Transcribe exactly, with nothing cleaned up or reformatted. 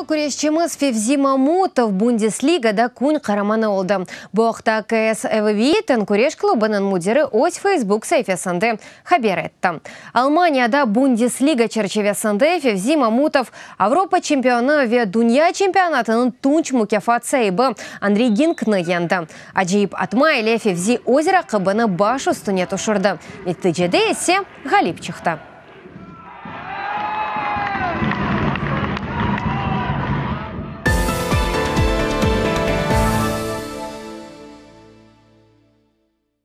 Qırımlı küreşçimiz Fevzi Mamutov Bundesligada kün qaramanı oldı. Bu aqta K S V Witten küreş klubınıñ müdiri öz Facebook saifesinde haber etti. Almaniyada Bundesliga çerçivesinde Fevzi Mamutov Avropa çempionı ve dünya çempionatınıñ tunç mukâfat saibi Andrey Ginkni yeñdi. Acayip atma ile Fevzi öz raqibini baş üstüne tüşürdi. Neticede ise ğalip çıqtı.